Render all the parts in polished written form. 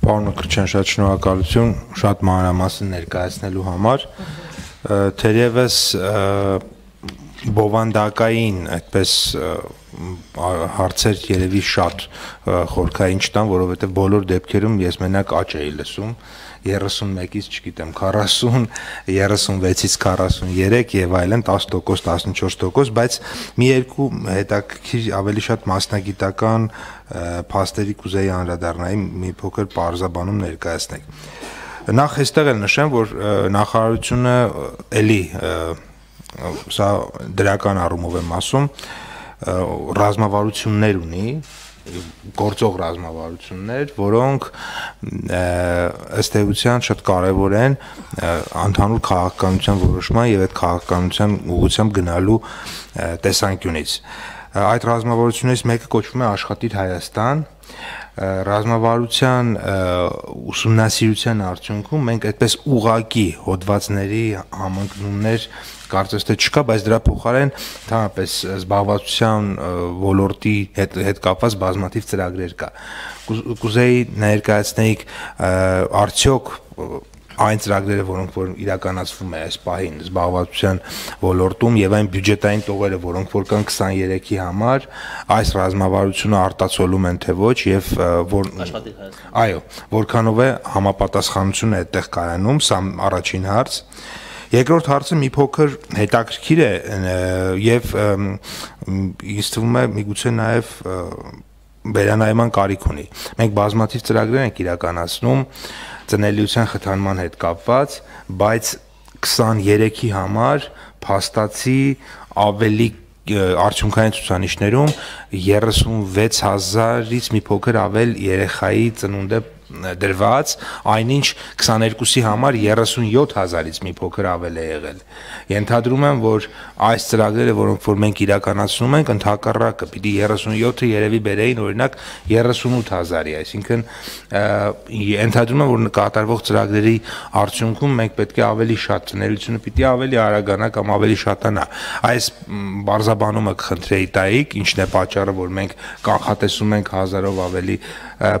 Պարոն Մկրտչյան, շատ շնորհակալություն շատ մանրամասն ներկայացնելու համար։ Թերևս բովանդակային այդպես հարցեր երևի շատ խորքային չտան, որովհետև բոլոր դեպքերում ես մենակ աճ էի լսում 31-ից, չգիտեմ, 40, 36-ից 43 եւ այլն 10%, 14%, բայց մի երկու հետաքրքիր ավելի շատ մասնագիտական փաստերի կուզեի անդրադառնալ, մի փոքր պարզաբանում ներկայացնեք։ Նախ այստեղ էլ նշեմ, որ նախարարությունը էլի սա դրական առումով եմ ասում, ռազմավարություններ ունի, գործող ռազմավարություններ, որոնք ըստ էության շատ կարևոր են ընդհանուր քաղաքականության որոշման եւ այդ քաղաքականության ուղղությամբ գնալու տեսանկյունից։ Այդ ռազմավարություններից մեկը կոչվում է Աշխատիր Հայաստան։ Ռազմավարության ուսումնասիրության արդյունքում մենք այդպես ուղղակի հոդվածների համընկնումներ կարծես թե չկա, բայց դրա փոխարեն ընդհանրապես զբաղվածության ոլորտի հետ կապված բազմաթիվ ծրագրեր կա։ Կուզեի ներկայացնեիք արդյոք այն ծրագրերը, որոնք որ իրականացվում է այս պահին զբաղվածության ոլորտում եւ այն բյուջետային տողերը, որոնք որ կան 23-ի համար, այս ռազմավարությունը արտացոլում են թե ոչ եւ որ այո, որքանով է համապատասխանությունը այդտեղ կայանում, սա առաջին հարց։ Երկրորդ հարցը մի փոքր հետաքրքիր է եւ ինձ թվում է միգուցե նաեւ վերանայման կարիք ունի։ Մենք բազմաթիվ ծրագրեր ենք իրականացնում ծնելիության խթանման հետ կապված, բայց 23-ի համար փաստացի ավելի արդյունքային ցուցանիշներում 36,000-ից մի փոքր ավել երեխայի ծնունդ է դրված, այնինչ 22-ի համար 37,000-ից մի փոքր ավել է եղել։ Ենթադրում եմ, որ այս ծրագրերը, որոնք որ մենք իրականացնում ենք, ընդհակառակը պիտի 37-ը երևի բերեին օրինակ 38,000-ի, այսինքն ենթադրում եմ, որ կատարվող ծրագրերի արդյունքում մենք պետք է ավելի շատ ծնելիությունը պիտի ավելի արագանա կամ ավելի շատանա։ Այս բարձաբանումը կխնդրեի տայիք, ինչն է պատճառը, որ մենք կանխատեսում ենք 1000-ով ավելի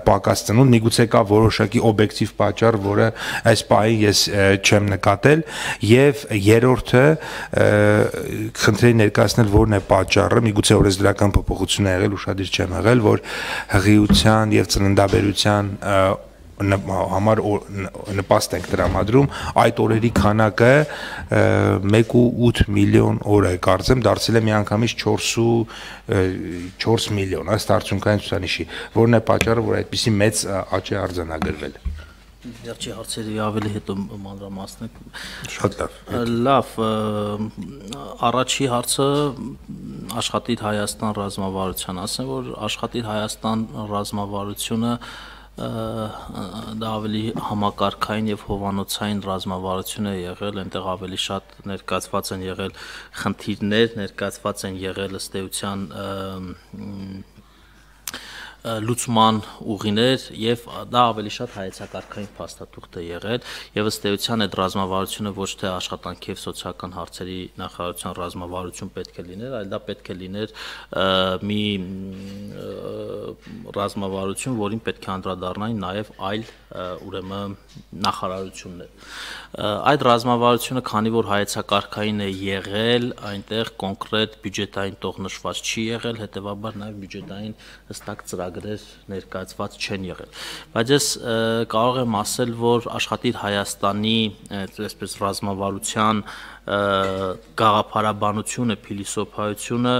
պակաս ծնունդ, միգուցե կա որոշակի օբյեկտիվ պատճառ, որը այս պահին ես չեմ նկատել, եւ երրորդը խնդրեի ներկայացնել որն է պատճառը, միգուցե օրենսդրական փոփոխություն է եղել, ուշադիր չեմ եղել, որ հղիության եւ ծննդաբերության համար նպաստ ենք տրամադրում, այդ օրերի քանակը 1.8 միլիոն օր է, կարծեմ, դարձել է միանգամից 4 միլիոն, ըստ արդյունքային ցուցանիշի, որն է պատճառը, որ այդպիսի մեծ աճ է արձանագրվել։ Վերջի հարցերի ավելի հետո մանրամասնեք։ Շատ լավ։ Լավ, առաջի հարցը Աշխատիր Հայաստան ռազմավարության, ասեմ, որ Աշխատիր Հայաստան ռազմավարությունը դա ավելի համակարգային եւ հովանոցային ռազմավարություն է եղել, այնտեղ ավելի շատ ներկայացված են եղել խնդիրներ, ներկայացված են եղել ըստ էության լուծման ուղիներ եւ դա ավելի շատ հայեցակարգային փաստաթուղթ է եղել եւ ըստ էության այդ ռազմավարությունը ոչ թե աշխատանքի եւ սոցիալական հարցերի նախարարության ռազմավարություն պետք է լիներ, այլ դա պետք է լիներ մի ռազմավարություն, որին պետք է անդրադառնային նաեւ այլ ուրեմն նախարարություններ։ Այդ ռազմավարությունը, քանի որ հայեցակարգային է եղել, այնտեղ կոնկրետ բյուջետային տող նշված չի եղել, հետեւաբար նաեւ բյուջետային հստակ ծրագրեր ներկայացված չեն եղել։ Բայց ես կարող եմ ասել, որ Աշխատիր Հայաստանի այսպես ռազմավարության գաղափարաբանությունը, փիլիսոփայությունը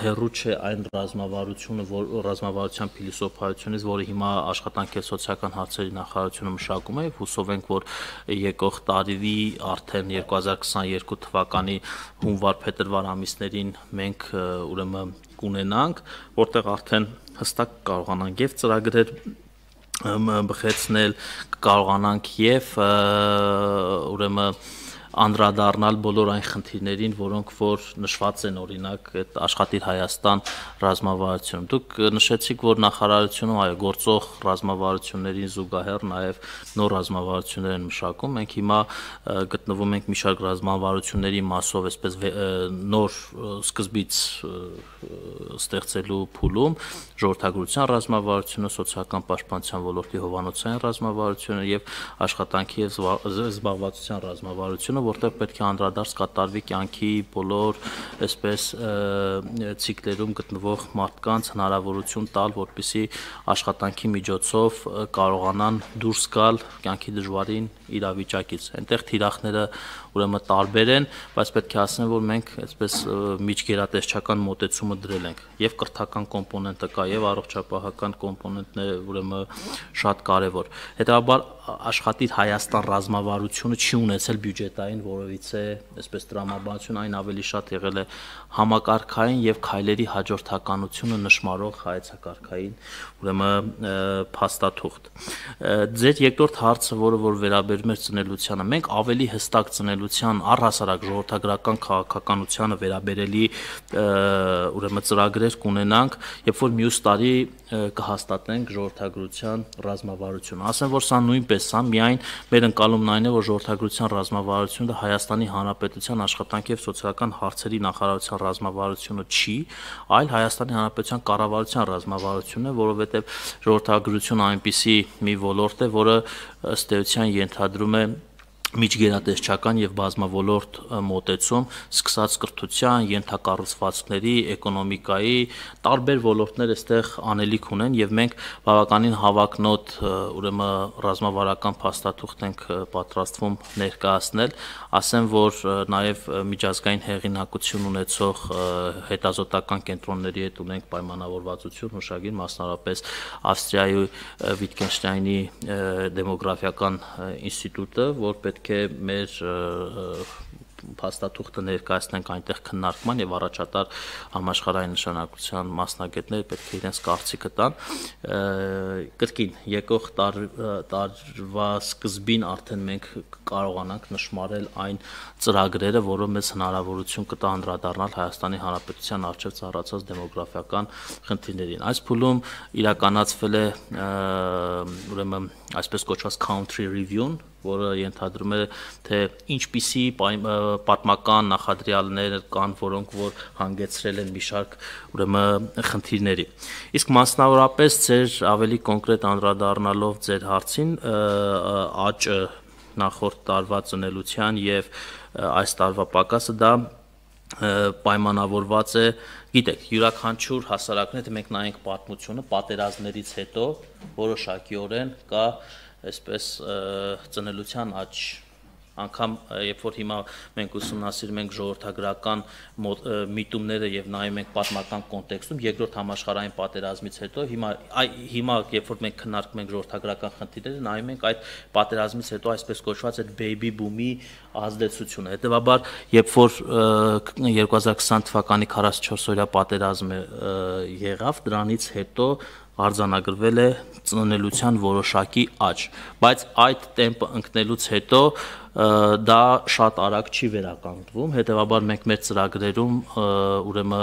հերու չէ այն ռազմավարության փիլիսոփայությունից, որը հիմա աշխատանքի եւ սոցիալական հարցերի նախարարությունը մշակում է, եւ հուսով ենք, որ եկող տարի արդեն 2022 թվականի հունվար-փետրվար ամիսներին մենք ուրեմն կունենանք, որտեղ արդեն հստակ կարողանանք եւ ծրագրեր բխեցնել, կարողանանք եւ ուրեմն անդրադառնալ բոլոր այն խնդիրներին, որոնք որ նշված են օրինակ այդ Աշխատիր Հայաստան ռազմավարությունում։ Դուք նշեցիք, որ նախարարությունում այո գործող ռազմավարություններին զուգահեռ նաև նոր ռազմավարություններ են մշակում։ Մենք հիմա գտնվում ենք մի շարք ռազմավարությունների մասով, այսպես նոր սկզբից ստեղծելու փուլում, ժողովրդագրության ռազմավարությունը, սոցիալական պաշտպանության ոլորտի հովանոցային ռազմավարությունը եւ աշխատանքի եւ զբաղվածության ռազմավարությունը, որտեղ պետք է անդրադարձ կատարվի կյանքի բոլոր այսպես ցիկլերում գտնվող մարդկանց հնարավորություն տալ, որպեսզի աշխատանքի միջոցով կարողանան դուրս գալ կյանքի դժվարին իրավիճակից։ Այնտեղ թիրախները ուրեմն տարբեր են, բայց պետք է ասեմ, որ մենք այսպես միջգերատեսչական մոտեցումը դրել ենք եւ կրթական կոմպոնենտը կա եւ առողջապահական կոմպոնենտները ուրեմն շատ կարեւոր։ Հետաբար Աշխատիր Հայաստան ռազմավարությունը չի ունեցել բյուջետային որևիցե այսպես տրամաբանություն, այն ավելի շատ եղել է համակարգային եւ քայլերի հաջորդականությունը նշмарող հայեցակարգային ուրեմն փաստաթուղթ։ Ձեր երկրորդ հարցը, որը որ վերաբերում է ծնելությանը, մենք ավելի հստակ ծնելության առհասարակ ժողովրդագրական քաղաքականությանը վերաբերելի ուրեմն ծրագրեր կունենանք, երբ որ մյուս տարի կհաստատենք ժողովրդագրության ռազմավարությունը։ Ասեմ, որ սա նույնպես սա միայն մեր ընկալումն այն է, որ ժողովրդագրության ռազմավարությունը Հայաստանի Հանրապետության աշխատանքի եւ սոցիալական հարցերի նախարարության ռազմավարությունը չի, այլ Հայաստանի Հանրապետության կառավարության ռազմավարությունն է, որովհետեւ ժողովրդագրությունը այնպիսի մի ոլորտ է, որը ըստ էության ենթադրում է միջգերատեսչական եւ բազմավոլորտ մոտեցում, սկսած կրթության, ենթակառուցվածքների, էկոնոմիկայի, տարբեր ոլորտներ այստեղ անելիք ունեն եւ մենք բավականին հավակնոտ ուրեմն ռազմավարական փաստաթուղթ ենք պատրաստվում ներկայացնել, ասեմ, որ նաեւ միջազգային հեղինակություն ունեցող հետազոտական կենտրոնների հետ ունենք պայմանավորվածություն, հուշագիր, մասնավորապես Ավստրիայի Վիտգենշտայնի դեմոգրաֆիական ինստիտուտը, որ պետք է մեր փաստաթուղթը ներկայացնենք այնտեղ քննարկման եւ առաջատար համաշխարհային նշանակության մասնագետները պետք է իրենց կարծիքը տան։ Կրկին եկող տարվա սկզբին արդեն մենք կարողանանք նշмарել այն ծրագրերը, որը մեզ հնարավորություն կտա անդրադառնալ Հայաստանի Հանրապետության առջև ծառացած դեմոգրաֆիական խնդիրներին։ Այս փուլում իրականացվել է ուրեմն այսպես կոչված country review-ն, որը ենթադրում է, թե ինչպիսի պատմական նախադրյալներ կան, որոնք որ հանգեցրել են մի շարք ուրեմն խնդիրների։ Իսկ մասնավորապես ձեր ավելի կոնկրետ անդրադառնալով ձեր հարցին, աճը նախորդ տարվա ծնելության եւ այս տարվա պակասը դա պայմանավորված է, գիտեք, յուրաքանչյուր հասարակներ, մենք նայենք պատմությունը պատերազմներից հետո որոշակիորեն կա այսպես ծնելության աճ, անգամ երբ որ հիմա մենք ուսումնասիրում ենք ժողովրդագրական միտումները եւ նայում ենք պատմական կոնտեքստում երկրորդ համաշխարհային պատերազմից հետո հիմա երբ որ մենք քննարկում ենք ժողովրդագրական խնդիրները նայում ենք այդ պատերազմից հետո այսպես կոչված այդ baby boom-ի ազդեցությունը հետեւաբար երբ որ 2020 թվականի 44-օրյա պատերազմը եղավ դրանից հետո արձանագրվել է ծնելիության որոշակի աճ, բայց այդ տեմպը ընկնելուց հետո դա շատ արագ չի վերականգնվում, հետեւաբար մենք մեր ծրագրերում ուրեմն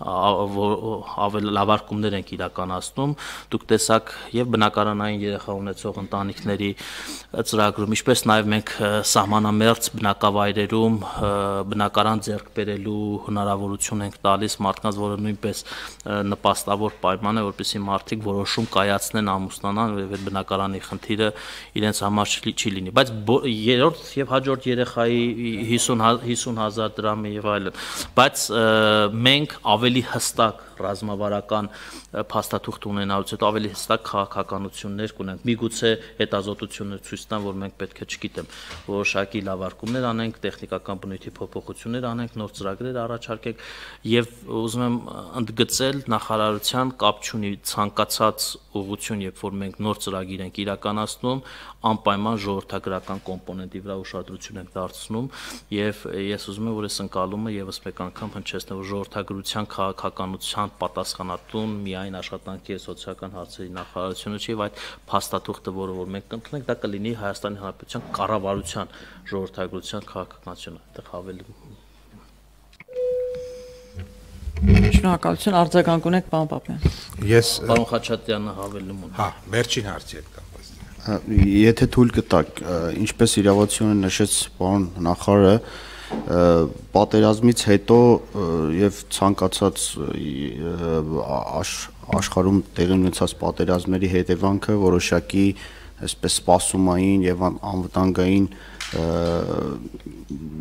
ավելի լավարկումներ ենք իրականացնում, դուք տեսաք եւ բնակարանային երեխա ունեցող ընտանիքների ծրագրում, ինչպես նաեւ մենք սահմանամերձ բնակավայրերում բնակարան ձեռք բերելու հնարավորություն ենք տալիս մարդկանց, որը նույնպես նպաստավոր պայման է, որպեսզի մարդիկ որոշում կայացնեն ամուսնանան եւ այդ բնակարանի խնդիրը իրենց համար չի լինի, բայց երրորդ եւ հաջորդ երեխայի 50,000 դրամը եւ այլն, բայց մենք ավելի հստակ ռազմավարական փաստաթուղթ ունենալուց հետո ավելի հստակ քաղաքականություններ կունենք։ Միգուցե հետազոտություններ ցույց տան, որ մենք պետք է, չգիտեմ, որոշակի լավարկումներ անենք, տեխնիկական բնույթի փոփոխություններ անենք, նոր ծրագրեր առաջարկենք եւ ուզում եմ ընդգծել նախարարության կապ չունի ցանկացած ուղղություն, երբ որ մենք նոր ծրագիր ենք իրականացնում, անպայման ժողովրդագրական կոմպոնենտի վրա ուշադրություն ենք դարձնում եւ ես ուզում եմ, որ այս ընկալումը եւս մեկ անգամ հնչեցնեմ, որ ժողովրդագրության քաղաքականության դրան պատասխանատուն միայն աշխատանքի եւ սոցիալական հարցերի նախարարությունը չի, այլ փաստաթուղթը, որ մենք կընդունենք, դա կլինի Հայաստանի Հանրապետության կառավարության ժողովրդագրության քաղաքականությունը, այդտեղ ավելի Շնորհակալություն, արձագանք ունեք, պարոն Պապյան։ Ես Պարոն Խաչատրյանը հավելում ունի։ Հա, վերջին հարցի հետ կապված։ Եթե թույլ կտակ, ինչպես իրավացիորեն նշեց պարոն նախարարը, պատերազմից հետո եւ ցանկացած աշխարհում տեղի ունեցած պատերազմների հետևանքը որոշակի այսպես սպասումային եւ անվտանգային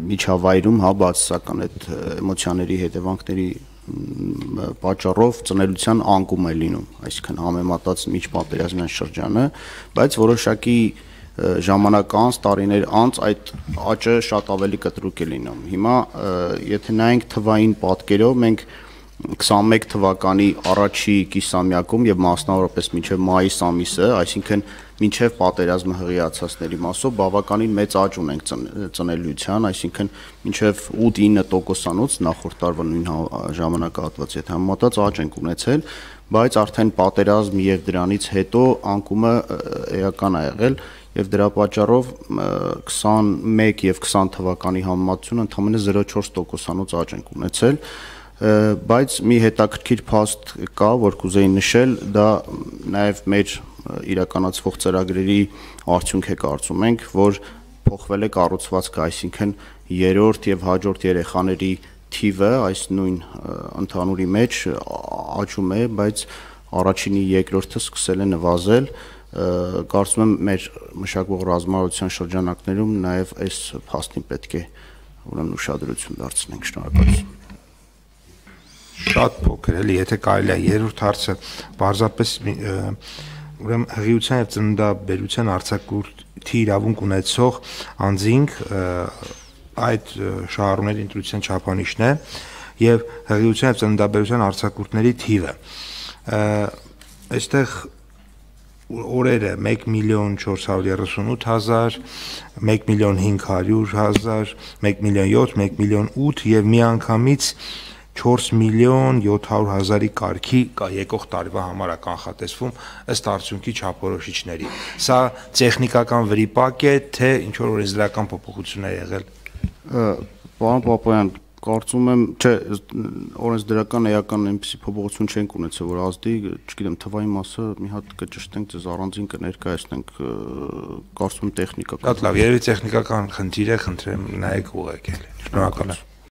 միջավայրում, հա, բացասական այդ էմոցիաների հետևանքների պատճառով ծնելիության անկում է լինում, այսինքն համեմատած միջպատերազմյան շրջանը, բայց որոշակի ժամանակ անց, տարիներ անց այդ աճը շատ ավելի կտրուկ է լինում։ Հիմա եթե նայենք թվային պատկերով, մենք 21 թվականի առաջի կիսամյակում եւ մասնավորապես մինչեւ մայիս ամիսը, այսինքն մինչեւ պատերազմը հղիացածների մասով բավականին մեծ աճ ունենք ծնելիության, այսինքն մինչեւ 8-9%-անոց նախորդ տարվա նույն ժամանակահատվածի հետ համեմատած աճ ենք ունեցել, բայց արդեն պատերազմ եւ դրանից հետո անկումը էական է եղել եւ դրա պատճառով 21 եւ 20 թվականի համեմատությունը ընդամենը 0.4%-անոց աճ ենք ունեցել, բայց մի հետաքրքիր փաստ կա, որ կուզեի նշել, դա նաեւ մեր իրականացվող ծրագրերի արդյունք է կարծում ենք, որ փոխվել է կառուցվածքը, այսինքն երրորդ եւ հաջորդ երեխաների թիվը այս նույն ընդհանուրի մեջ աճում է, բայց առաջինի երկրորդը սկսել է նվազել, կարծում եմ մեր մշակվող ռազմավարության շրջանակներում նաեւ այս փաստին պետք է ուրեմն ուշադրություն դարձնենք, շնորհակալություն։ Շատ փոքր էլի, եթե կարելի է երրորդ հարցը պարզապես ուրեմն հղիության եւ ծննդաբերության արձակուրդի իրավունք ունեցող անձինք այդ շահառուների ընտրության չափանիշն է եւ հղիության եւ ծննդաբերության արձակուրդների թիվը։ Այստեղ օրերը 1.438.000, 1.500.000, 1.700.000, 1.800.000 եւ միանգամից 4.700.000-ի կարգի եկող տարվա համար է կանխատեսվում ըստ արդյունքի չափորոշիչների։ Սա տեխնիկական վրիպակ է, թե ինչ որ օրենսդրական փոփոխություն է եղել։ Պարոն Պապայան, կարծում եմ, չէ, օրենսդրական էական այնպիսի փոփոխություն չենք ունեցել, որ ազդի, չգիտեմ, թվային մասը մի հատ կճշտենք, ձեզ առանձին կներկայացնենք, կարծում եմ տեխնիկական։ Շատ լավ, երևի տեխնիկական խնդիր է, խնդրեմ նայեք ուղղակի։ Շնորհակալություն։